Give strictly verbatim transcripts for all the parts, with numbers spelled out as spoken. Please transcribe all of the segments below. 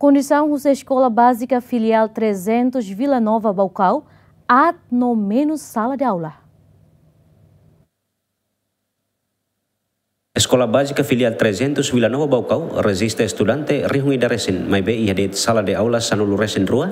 Kondisaun husi Eskola Bázika Filiál trezentos Vila Nova Baucau aat no menus sala de aula. Eskola Bázika Filiál trezentos Vila Nova Baucau rejista estudante rihun ida resin, maibé iha de'it sala de aula sanulu resin rua.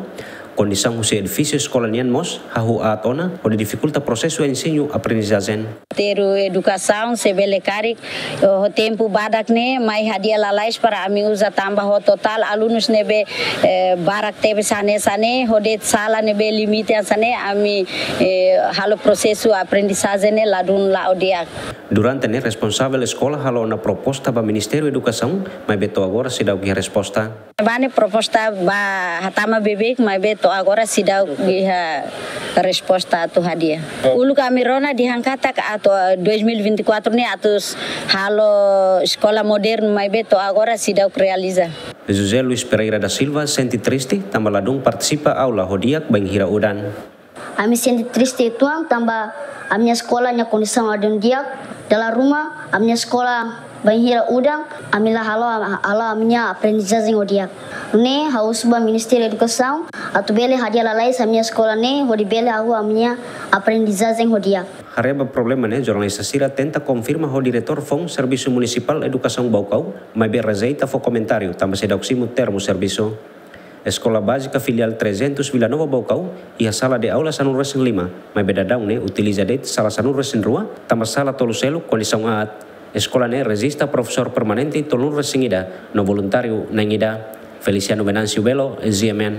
Kondisaun husi edifísiu eskola nian mós hahú aat ona, hodi difikulta prosesu ensinu aprendizajen. Ministériu Edukasaun se bele karik ho tempu badak ne'e mai hadi'a lalais para ami uza tanba ho totál alunus ne'ebé, eh, barak tebes hanesan ne'e, ho de'it sala ne'ebé limite hanesan ne'e, ami, eh, halo prosesu aprendizajen ne'e ladún la'o di'ak. Durante ne'e responsavel eskola halo ona proposta ba Ministériu Edukasaun, maibé to'o agora seidauk iha resposta. Bá ne'e proposta bá hatama beibeik, maibé to'o agora seidauk iha resposta atu hadi'a. Uluk ami rona dehan katak atu, eh, dois mil e vinte e quatro ne'e atu halo eskola modernu, maibé to'o agora seidauk realiza. José Luis Pereira da Silva sente triste tanba ladún partisipa aula ho di'ak bainhira udan. Ami sente triste uitoan tanba ami-nia eskola nia kondisaun ladún di'ak. Dala ruma ami-nia eskola bainhira udan, ami la halo, halo ami-nia aprendizajen ho di'ak. Nune'e ha'u husu ba Ministériu Edukasaun atu bele hadi'a lalais ami-nia eskola ne'e hodi bele hahú ami-nia aprendizajen ho di'ak. Haree ba problema ne'e, jornalista sira tenta konfirma ho diretór foun Servisu Munisipál Edukasaun Baucau, maibé rejeita fó komentáriu tanba seidauk simu termu servisu. Eskola Bázika Filiál trezentos Vila Nova Baucau iha sala de aula sanulu resin lima, maibé daudaun ne'e utiliza de'it sala sanulu resin rua, tanba sala tolu seluk kondisaun aat. Eskola ne'e rejista profesór permanente tolunulu resin ida no voluntáriu na'in ida. Feliciano Venâncio Belo, G M N.